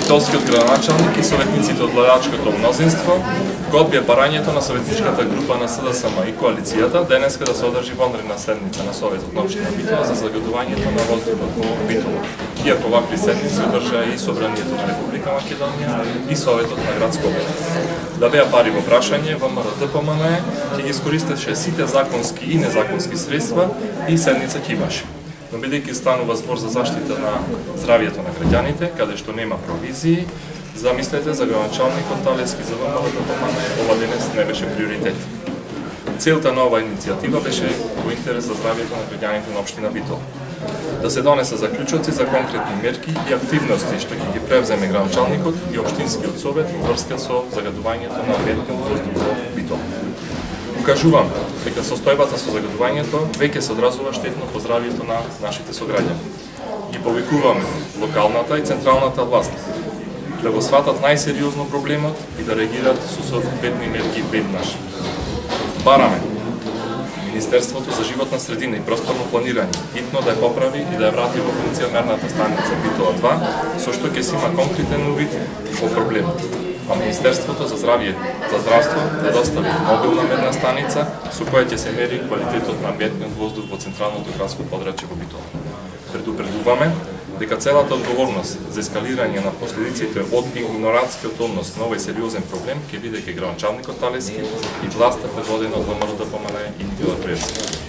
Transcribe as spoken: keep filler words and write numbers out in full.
Битолскиот градоначалник и советниците од владачкото мнозинство го одбија барањето на советничката група на СДСМ и коалицијата денеска да се одржи вонредна седница на Советот на општина Битола за загадувањето на воздухот во Битола. Иако вакви седници одржаа и Собранието на Република Македонија и Советот на град Скопје. Да беа пари во прашање, ВМРО-ДПМН ќе ги искористеше сите законски и незаконски средства и седница ќе имаше. Но бидејќи станува збор за заштита на здравјето на граѓаните, каде што нема провизии, замислете за градоначалникот Талески за ВМРО-ДПМН ова денес не беше приоритет. Целта на оваа иницијатива беше во интерес за здравјето на граѓаните на општина Битола. Да се донесе заклучоци за конкретни мерки и активности што ќе ги превземе градоначалникот и општинскиот совет во врска со загадувањето на амбиентниот воздух во Битола. Укажувам дека состојбата со загадувањето веќе се одразува штетно по здравјето на нашите сограѓани. Ги повикуваме локалната и централната власт да го сватат најсериозно проблемот и да реагираат со соодветни мерки веднаш. Бараме Министерството за животна средина и просторно планирање хитно да ја поправи и да ја врати во функција мерната станица Битола два, со што ќе се има конкретен увид во проблемот. А Министерството за здравје, за здравство да достави мобилна мерна станица со која ќе се мери квалитетот на амбиентниот воздух во централното градско подрачје во Битола. Предупредуваме дека целата одговорност за ескалирање на последиците од игнорантскиот однос на овој сериозен проблем ќе биде ке градоначалникот Талески и власта предводена од ВМРО-ДПМН и Никола Певски.